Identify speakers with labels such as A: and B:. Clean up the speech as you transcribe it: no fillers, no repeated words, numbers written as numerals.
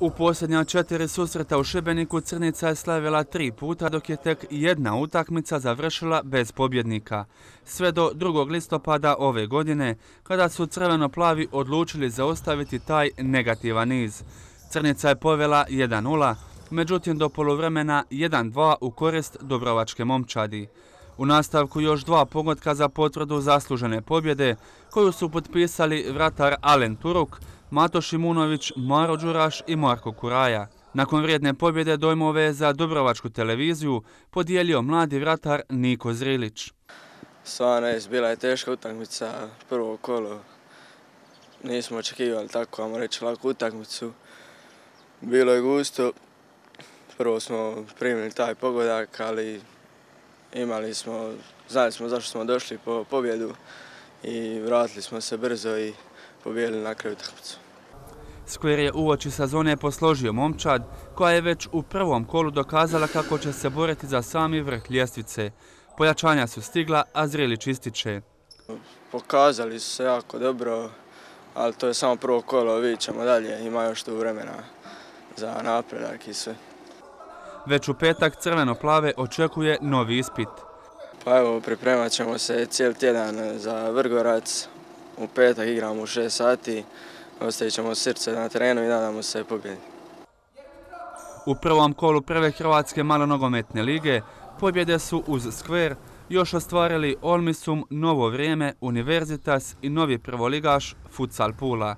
A: U posljednja 4 susreta u Šibeniku Crnica je slavila 3 puta, dok je tek jedna utakmica završila bez pobjednika. Sve do 2. listopada ove godine, kada su crveno-plavi odlučili zaustaviti taj negativan niz. Crnica je povela 1:0, međutim do poluvremena 1:2 u korist Dubrovačke momčadi. U nastavku još 2 pogotka za potvrdu zaslužene pobjede, koju su potpisali vratar Alen Turuk, Mato Šimunović, Maro Đuraš i Marko Kuraja. Nakon vrijedne pobjede dojmove za Dubrovačku televiziju podijelio mladi vratar Niko Zrilić.
B: Stvarno, bila je teška utakmica, prvo kolo. Nismo očekivali tako, ajmo reći, laku utakmicu. Bilo je gusto. Prvo smo primili taj pogodak, ali znali smo zašto smo došli po pobjedu i vratili smo se brzo i pobijedili na kraju utakmicu.
A: Skver je uoči sezone posložio momčad, koja je već u prvom kolu dokazala kako će se boriti za sami vrh ljestvice. Pojačanja su stigla, a Zrilić ističe.
B: Pokazali su se jako dobro, ali to je samo prvo kolo, vidjet ćemo dalje, ima još tu vremena za napredak i sve.
A: Već u petak crveno-plave očekuje novi ispit.
B: Pa evo, pripremat ćemo se cijeli tjedan za Vrgorac. U petak igramo u 6 sati, ostavit ćemo srce na terenu i nadamo se pobjedi.
A: U prvom kolu prve Hrvatske malonogometne lige pobjede su uz Skver još ostvarili Olmisum, Novo Vrijeme, Univerzitas i novi prvoligaš Futsal Pula.